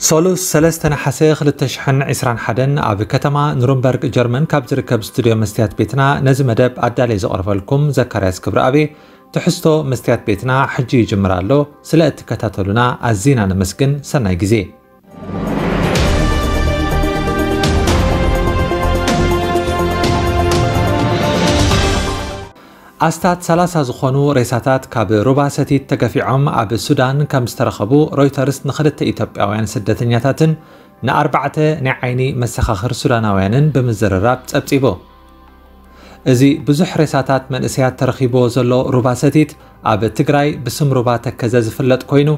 ሰሉስ ሰለስተ ነሓሰ ክልተ ሽሕን ዕስራን ሓደን ኣብ ከተማ ኑርንበርግ ጀርመን ካብ ዝርከብ ስቱድዮ መስትያት ቤትና ነዚ መደብ ኣዳልየ ዘቕርበልኩም ዘካርያስ ክብረኣብ። ትሕዝቶ መስትያት ቤትና ሕጂ ይጅምር ኣሎ። ስለ እትከታተሉና ኣዚና ነመስግን። ሰናይ ግዜ። ኣስታት ሰላሳ ዝኾኑ ሬሳታት ካብ ሩባ ሰቲት ተገፊዖም ኣብ ሱዳን ከም ዝተረኸቡ ሮይተርስ ንኽልተ ኢትዮጵያውያን ስደተኛታትን ንኣርባዕተ ናይ ዓይኒ መሰኻኽር ሱዳናውያንን ብምዝርራብ ጸብጺቡ። እዚ ብዙሕ ሬሳታት መንእሰያት ተረኺብዎ ዘሎ ሩባ ሰቲት ኣብ ትግራይ ብስም ሩባ ተከዘ ዝፍለጥ ኮይኑ፣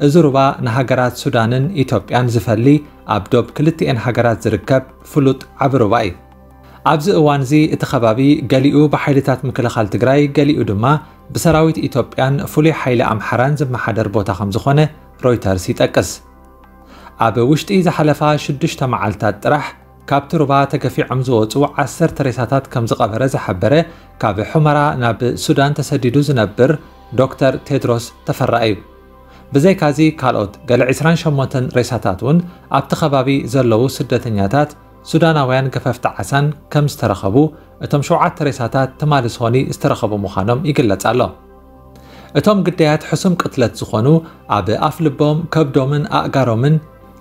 እዚ ሩባ ንሃገራት ሱዳንን ኢትዮጵያን ዝፈሊ ኣብ ዶብ ክልቲኤን ሃገራት ዝርከብ ፍሉጥ ዓቢ ሩባ እዩ። ኣብዚ እዋንዚ እቲ ከባቢ ገሊኡ ብሓይልታት ምክልኻል ትግራይ፣ ገሊኡ ድማ ብሰራዊት ኢትዮጵያን ፍሉይ ሓይሊ ኣምሓራን ዝመሓደር ቦታ ከም ዝኾነ ሮይተርስ ይጠቅስ። ኣብ ውሽጢ ዝሓለፋ ሽዱሽተ መዓልታት ጥራሕ ካብቲ ሩባ ተገፊዖም ዝወጹ ዓሰርተ ሬሳታት ከም ዝቐበረ ዝሓበረ ካብ ሑመራ ናብ ሱዳን ተሰዲዱ ዝነብር ዶክተር ቴድሮስ ተፈራ እዩ። ብዘይካዚ ካልኦት ገለ ዕስራን ሸሞንተን ሬሳታት እውን ኣብቲ ከባቢ ዘለዉ ስደተኛታት ሱዳናውያን ገፈፍቲ ዓሳን ከም ዝተረኸቡ እቶም ሸውዓተ ሬሳታት ትማሊ ሶኒ ዝተረኸቡ ምዃኖም ይግለጽ ኣሎ። እቶም ግዳያት ሕሱም ቅትለት ዝኾኑ ኣብ ኣፍ ልቦም፣ ከብዶምን ኣእጋሮምን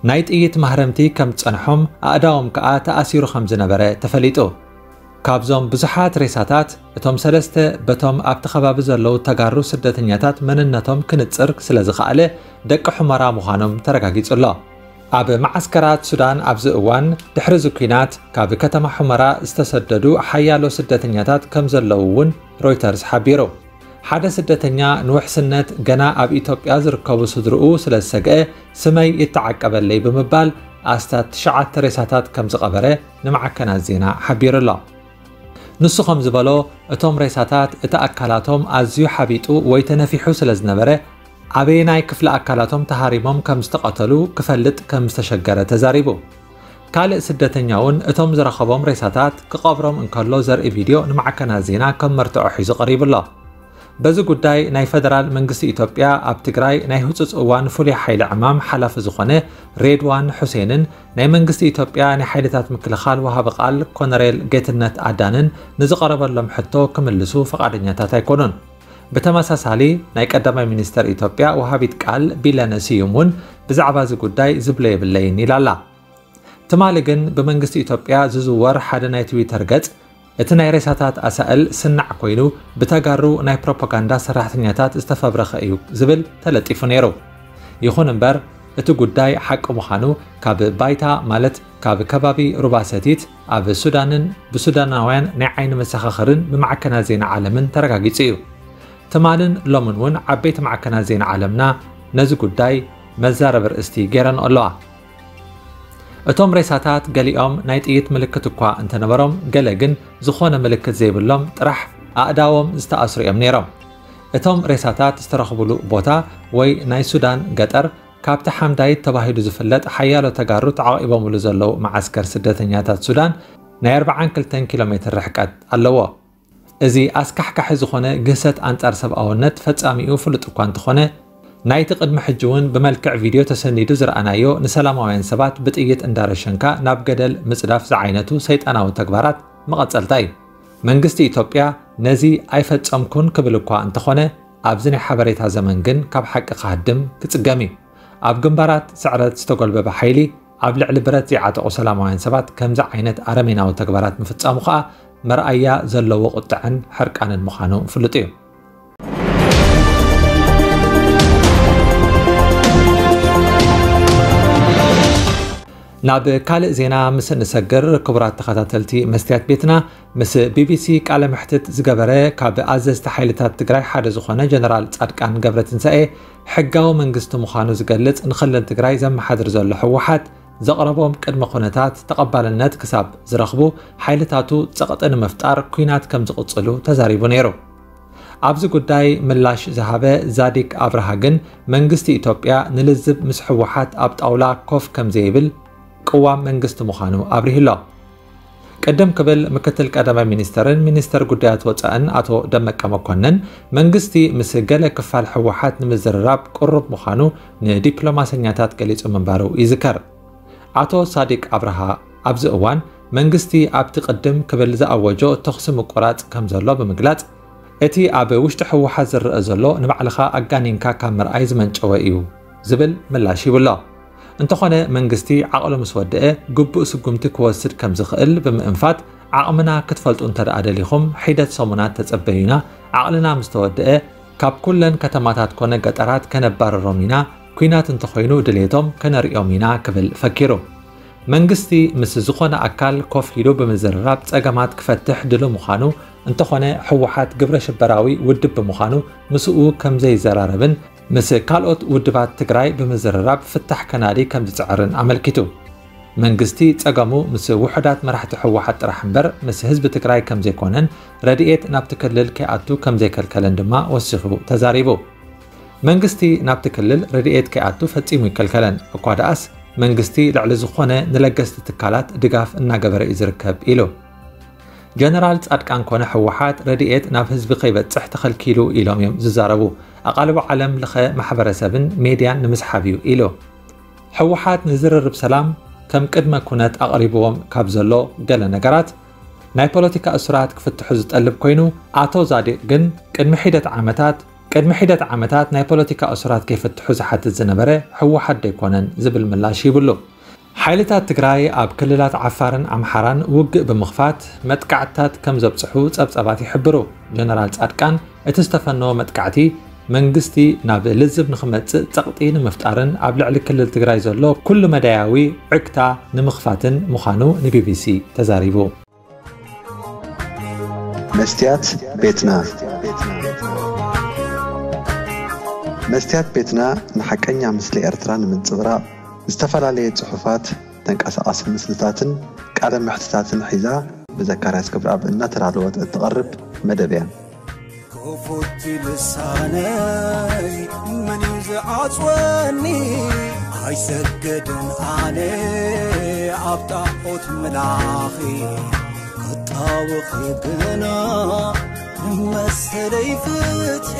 ናይ ጥይት ማህረምቲ ከም ዝጸንሖም፣ ኣእዳዎም ከኣ ተኣሲሩ ከም ዝነበረ ተፈሊጡ። ካብዞም ብዙሓት ሬሳታት እቶም ሰለስተ በቶም ኣብቲ ከባቢ ዘለዉ ተጋሩ ስደተኛታት መንነቶም ክንጽር ስለ ዝኸኣለ ደቂ ሑመራ ምዃኖም ተረጋጊጹ ኣሎ። ኣብ መዓስከራት ሱዳን ኣብዚ እዋን ድሕሪ እዚ ኲናት ካብ ከተማ ሑመራ ዝተሰደዱ ሓያሎ ስደተኛታት ከም ዘለዉ እውን ሮይተርስ ሓቢሩ። ሓደ ስደተኛ ንውሕስነት ገና ኣብ ኢትዮጵያ ዝርከቡ ስድርኡ ስለ ዝሰግአ ስመይ ይተዓቀበለይ ብምባል ኣስታት ትሽዓተ ሬሳታት ከም ዝቐበረ ንማዕከናት ዜና ሓቢሩ ኣሎ። ንሱ ከም ዝበሎ፣ እቶም ሬሳታት እቲ ኣካላቶም ኣዝዩ ሓቢጡ ወይ ተነፊሑ ስለ ዝነበረ፣ ኣበየናይ ክፍሊ ኣካላቶም ተሃሪሞም ከም ዝተቐተሉ ክፈልጥ ከም ዝተሸገረ ተዛሪቡ። ካልእ ስደተኛ እውን እቶም ዝረኸቦም ሬሳታት ክቐብሮም እንከሎ ዘርኢ ቪድዮ ንማዕከናት ዜና ከም መርትዖ ሒዙ ቀሪቡ ኣሎ። በዚ ጉዳይ ናይ ፈደራል መንግስቲ ኢትዮጵያ ኣብ ትግራይ ናይ ህጹጽ እዋን ፍሉይ ሓይሊ ዕማም ሓላፊ ዝኾነ ሬድዋን ሑሴንን ናይ መንግስቲ ኢትዮጵያ ናይ ሓይልታት ምክልኻል ወሃቢ ቃል ኮነሬል ጌትነት ኣዳንን ንዝቐረበሎም ሕቶ ክምልሱ ፈቓደኛታት ኣይኮኑን። ብተመሳሳሊ ናይ ቀዳማይ ሚኒስተር ኢትዮጵያ ወሃቢት ቃል ቢለነ ስዩም እውን ብዛዕባ እዚ ጉዳይ ዝብሎ የብለይን ኢላ ኣላ። ትማሊ ግን ብመንግስቲ ኢትዮጵያ ዝዝወር ሓደ ናይ ትዊተር ገጽ፣ እቲ ናይ ሬሳታት ኣሳእል ስናዕ ኮይኑ ብተጋሩ ናይ ፕሮፓጋንዳ ሰራሕተኛታት ዝተፈብረኸ እዩ ዝብል ተለጢፉ ነይሩ። ይኹን እምበር እቲ ጉዳይ ሓቂ ምዃኑ ካብ ባይታ፣ ማለት ካብ ከባቢ ሩባ ሰቲት ኣብ ሱዳንን ብሱዳናውያን ናይ ዓይኒ መሰኻኽርን ብማዕከናት ዜና ዓለምን ተረጋጊጹ እዩ። ትማልን ሎምን እውን ዓበይቲ ማዕከናት ዜና ዓለምና ነዚ ጉዳይ መዛረቢ ርእስቲ ገይረንኦ ኣለዋ። እቶም ሬሳታት ገሊኦም ናይ ጥይት ምልክት እኳ እንተነበሮም፣ ገለ ግን ዝኾነ ምልክት ዘይብሎም ጥራሕ ኣእዳዎም ዝተኣስሩ እዮም ነይሮም። እቶም ሬሳታት ዝተረኽብሉ ቦታ ወይ ናይ ሱዳን ገጠር ካብቲ ሓምዳይት ተባሂሉ ዝፍለጥ ሓያሎ ተጋሩ ተዓቒቦምሉ ዘለዉ መዓስከር ስደተኛታት ሱዳን ናይ ኣርብዓን ክልተን ኪሎ ሜትር ርሕቀት ኣለዎ። እዚ ኣስካሕካሒ ዝኾነ ግህሰት ኣንጻር ሰብኣውነት ፈጻሚኡ ፍሉጥ እኳ እንተኾነ፣ ናይቲ ቅድሚ ሕጂ እውን ብመልክዕ ቪድዮ ተሰኒዱ ዝረኣናዮ ንሰላማውያን ሰባት ብጥይት እንዳረሸንካ ናብ ገደል ምጽዳፍ ዝዓይነቱ ሰይጣናዊ ተግባራት መቐጸልታ እዩ። መንግስቲ ኢትዮጵያ ነዚ ኣይፈጸምኩን ክብል እኳ እንተኾነ፣ ኣብዚ ናይ ሓበሬታ ዘመን ግን ካብ ሓቂ ክሃድም ክጽገም እዩ። ኣብ ግንባራት ስዕረት ዝተጎልበበ ሓይሊ ኣብ ልዕሊ ብረት ዘይዓጠቑ ሰላማውያን ሰባት ከምዚ ዓይነት ኣረሜናዊ ተግባራት ምፍጻሙ ከኣ መርኣያ ዘለዎ ቁጥዐን ሕርቃንን ምዃኑ ፍሉጥ እዩ። ናብ ካልእ ዜና ምስ እንሰግር፣ ክቡራት ተኸታተልቲ መስትያት ቤትና፣ ምስ ቢቢሲ ቃለ መሕትት ዝገበረ ካብ ኣዘዝቲ ሓይልታት ትግራይ ሓደ ዝኾነ ጀነራል ጻድቃን ገብረትንሳኤ፣ ሕጋዊ መንግስቲ ምዃኑ ዝገልጽ ንክልል ትግራይ ዘመሓድር ዘሎ ህወሓት ዘቕረቦም ቅድመ ኩነታት ተቐባልነት ክሳብ ዝረኽቡ ሓይልታቱ ጸቕጢ ንምፍጣር ኲናት ከም ዝቕጽሉ ተዛሪቡ ነይሩ። ኣብዚ ጉዳይ ምላሽ ዝሃበ ዛዲግ ኣብርሃ ግን መንግስቲ ኢትዮጵያ ንልዝብ ምስ ህወሓት ኣብ ጣውላ ኮፍ ከም ዘይብል ቅዋም መንግስቲ ምዃኑ ኣብሪሁ ኣሎ። ቅድም ክብል ምክትል ቀዳማይ ሚኒስተርን ሚኒስተር ጉዳያት ወጻእን ኣቶ ደመቀ መኮንን መንግስቲ ምስ ገለ ክፋል ህወሓት ንምዝርራብ ቅሩብ ምዃኑ ንዲፕሎማሰኛታት ገሊጹ ምንባሩ ይዝከር። ኣቶ ሳዲቅ ኣብርሃ ኣብዚ እዋን መንግስቲ ኣብቲ ቅድም ክብል ዝኣወጆ ተኹሲ ምቁራጽ ከም ዘሎ ብምግላጽ፣ እቲ ኣብ ውሽጢ ህወሓት ዝረአ ዘሎ ንባዕልኻ ኣጋኒንካ ካብ ምርኣይ ዝመንጨወ እዩ ዝብል ምላሽ ይብሎ። እንተኾነ መንግስቲ ዓቕሉ ምስ ወደአ ግቡእ ስጉምቲ ክወስድ ከም ዝኽእል ብምእንፋት፣ ዓቕምና ክትፈልጡ እንተ ደኣ ደሊኹም ሒደት ሰሙናት ተጸበዩና፣ ዓቕልና ምስ ተወደአ ካብ ኩለን ከተማታት ኮነ ገጠራት ከነባርሮም ኢና፣ ኲናት እንተኾይኑ ድሌቶም ከነርእዮም ኢና ክብል ፈኪሩ። መንግስቲ ምስ ዝኾነ ኣካል ኮፍ ኢሉ ብምዝርራብ ጸገማት ክፈትሕ ድሉ ምዃኑ፣ እንተኾነ ህወሓት ግብረ ሽበራዊ ውድብ ብምዃኑ ምስኡ ከም ዘይዘራረብን ምስ ካልኦት ውድባት ትግራይ ብምዝርራብ ፍታሕ ከናዲ ከም ዝጽዕርን ኣመልኪቱ። መንግስቲ ጸገሙ ምስ ውሑዳት መራሕቲ ህወሓት ጥራሕ እምበር ምስ ህዝቢ ትግራይ ከም ዘይኮነን ረድኤት ናብቲ ክልል ከይኣቱ ከም ዘይከልከለን ድማ ወሲኹ ተዛሪቡ። መንግስቲ ናብቲ ክልል ረድኤት ከይኣቱ ፈጺሙ ይከልከለን። እኳ ደኣስ መንግስቲ ልዕሊ ዝኾነ ንለገስቲ ትካላት ድጋፍ እናገበረ እዩ ዝርከብ ኢሉ። ጀነራል ጻድቃን ኮነ ህወሓት ረድኤት ናብ ህዝቢ ከይበጽሕ ተኸልኪሉ ኢሎም እዮም ዝዛረቡ። ኣቓልቦ ዓለም ለኸ ማሕበረሰብን ሜድያን ንምስሓብ እዩ ኢሉ። ህወሓት ንዝርርብ ሰላም ከም ቅድመ ኩነት ኣቕሪብዎም ካብ ዘሎ ገለ ነገራት፣ ናይ ፖለቲካ እሱራት ክፍትሑ ዝጠልብ ኮይኑ፣ ኣቶ ዛዲቅ ግን ቅድሚ ሒደት ዓመታት ቅድሚ ሒደት ዓመታት ናይ ፖለቲካ እሱራት ከይፈትሑ ዝሓትት ዝነበረ ህወሓት ደይኮነን ዝብል ምላሽ ይብሉ። ሓይልታት ትግራይ ኣብ ክልላት ዓፋርን ኣምሓራን ውግእ ብምኽፋት መጥቃዕትታት ከም ዘብጽሑ ጸብጻባት ይሕብሩ። ጀነራል ጻድቃን እቲ ዝተፈነወ መጥቃዕቲ መንግስቲ ናብ ልዝብ ንኽመጽእ ጸቕጢ ንምፍጣርን ኣብ ልዕሊ ክልል ትግራይ ዘሎ ኩሉ መዳያዊ ዕግታ ንምኽፋትን ምዃኑ ንቢቢሲ ተዛሪቡ። መስትያት ቤትና። መስትያት ቤትና ንሓቀኛ ምስሊ ኤርትራ ንምንጽብራቕ ዝተፈላለየ ጽሑፋት፣ ተንቀሳቓሲ ምስልታትን ቃለ መሕትታትን ሒዛ ብዘካርያስ ክብረኣብ እናተዳለወት እትቐርብ መደብ እያ። ክፉት ልሳነይ መን እዩ ዝዓጽወኒ? ኣይሰግድን ኣነ ኣብ ጣዖት ምላኺ፣ ክጣወኺ ግና ንመሰለይ ፍትሒ።